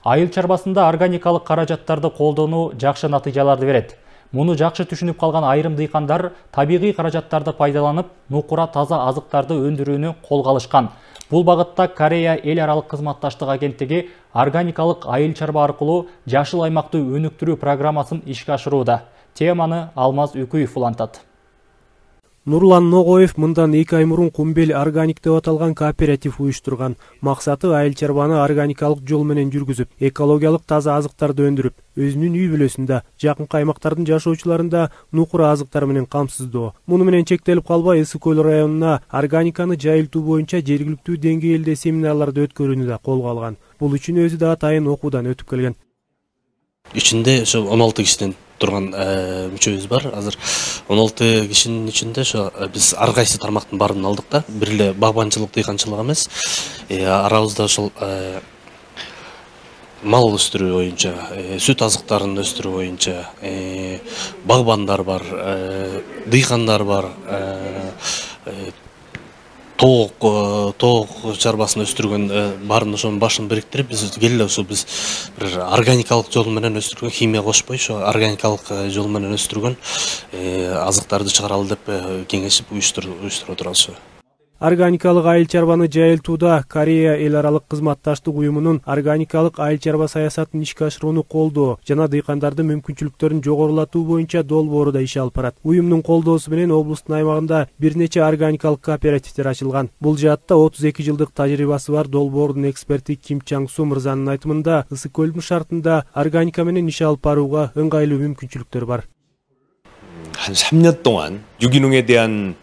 Айыл чарбасында органикалык каражаттарды колдонуу жакшы натыйжаларды берет. Муну жакшы түшүнүп калган айрым дыйкандар табигый каражаттарды пайдаланып, нукура таза азыктарды өндүрүүнү колго алышкан. Бул багытта Корея эл аралык кызматташтык агенттиги органикалык айыл чарба аркылуу жашыл аймакты өнүктүрүү программасын ишке ашырууда. Теманы Алмаз Үкүев улантат. Нурлан Ногоев мындан 2 ай мурун Кумбел органик деп аталган кооператив уюштурган. Максаты айыл чарбаны органикалык жол менен жүргүзүп, экологиялык таза азыктарды өндүрүп, өзүнүн үй бүлөсүндө, жакынкы аймактардын жашоочуларында нукура азыктар менен камсыздоо. Муну менен чектелип калбай, Ысык көл районуна органиканы жайылтуу боюнча жергиликтүү деңгээлде семинарларды өткөрүүнү да колго алган. Бул үчүн өзү да атайын окуудан өтүп келген. Ичинде ошо 16 кишиден турган мүчөбүз бар. Азыр 16 кишинин ичинде ошо биз ар кайсы тармактын баарын алдык да. Бир эле багбанчылык, дыйканчылык эмес. Арабызда ошол мал өстүрүү боюнча, сүт азыктарын өстүрүү боюнча багбандар бар, дыйкандар бар, тоок чарбасын өстүргөн баарын ошонун башын бириктирип, биз келе ошо биз бир органикалык жол менен өстүргөн, химия кошпой, ошо органикалык жол менен өстүргөн азыктарды чыгаралы деп кеңешип уюштуруп отурабыз. Органикалык айыл чарбаны жайылтууда Корея эл аралык кызматташтык уюмунун органикалык айыл чарба саясатын ишке ашырууну колдоо жана дыйкандардын мүмкүнчүлүктөрүн жогорулатуу боюнча долбоору да иш алып барат. Уюмдун колдоосу менен облустун аймагында бир нече органикалык кооперативдер ачылган. Бул жаатта 32 жылдык тажрыйбасы бар долбоордун эксперти Ким Чанг Су мырзанын айтымында, ысык көлдүн шартында органика менен иш алып барууга ыңгайлуу мүмкүнчүлүктөр бар. 한 3년 동안 유기농에 대한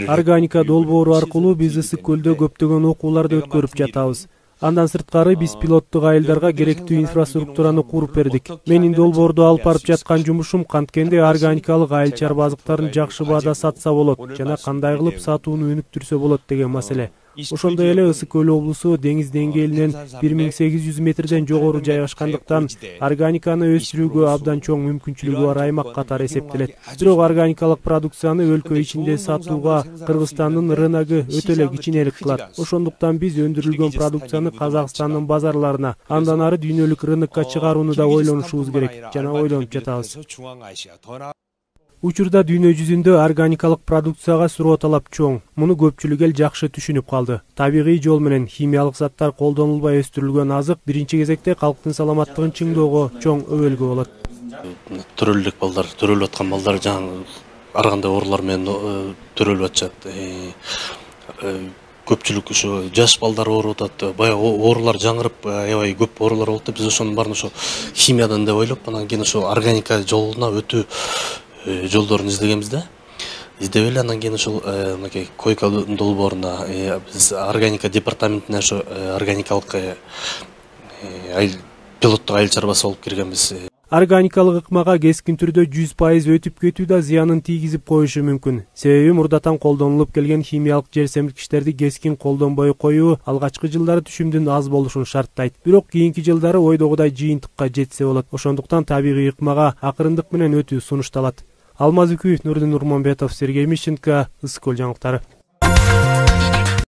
Органика долбоору аркылуу биз Ысык көлдө көптөгөн окууларды өткөрүп жатабыз. Андан сырткары биз пилоттук айылдарга керектүү инфраструктураны куруп бердик. Менин долбоордо алып барып жаткан жумушум канткенде органикалык айыл чарба азыктарын жакшы баада сатса болот жана кандай кылып сатууну өнүктүрсө болот деген маселе. Ошондой эле Ысык көл облусу деңиз деңгээлинен 1800 метрден жогору жайгашкандыктан органиканы өстүрүүгө абдан чоң мүмкүнчүлүгү бар аймак катары эсептелет. Бирок органикалык продукцияны өлкө ичинде сатууга Кыргызстандын рыногу өтө эле кичинелик кылат. Ошондуктан биз өндүрүлгөн продукцияны Казакстандын базарларына, андан ары дүйнөлүк рынокко чыгарууну да ойлонушубуз керек жана ойлонуп жатабыз. Учурда дүйнө жүзүндө органикалык продукцияга суроо талап чоң. Муну көпчүлүк эл жакшы түшүнүп калды. Табигый жол менен химиялык заттар колдонулбай өстүрүлгөн азык биринчи кезекте калктын саламаттыгын чыңдоого чоң өбөлгө болот. Төрөлүк балдар, төрөлүп аткан балдар жаңы ар кандай оорулар менен төрөлүп атышат. Көпчүлүк ошо жаш балдар ооруп атат. Баягы оорулар жаңырып, аябай көп оорулар болот деп биз ошонун баарын ошо химиядан деп ойлоп, анан кийин ошо органика жолуна өтүү жолдорун издегенбиз да. Издеп эле анан кийин ошол мынакей койка долбооруна биз органика департаментине ошо органикалык пилоттук айыл чарбасы болуп киргенбиз. Органикалык ыкмага кескин түрдө 100% өтүп кетүү да зыянын тийгизип коюшу мүмкүн. Себеби мурдатан колдонулуп келген химиялык жер семирткичтерди кескин колдонбой коюу алгачкы жылдары түшүмдүн аз болушун шарттайт. Бирок кийинки жылдары ойдогудай жыйынтыкка жетсе болот. Ошондуктан табигый ыкмага акырындык менен өтүү сунушталат. Алмаз Үкүев, Нурдин Нурманбетов, Сергей Мищенко, Ысык көл жаңылыктары.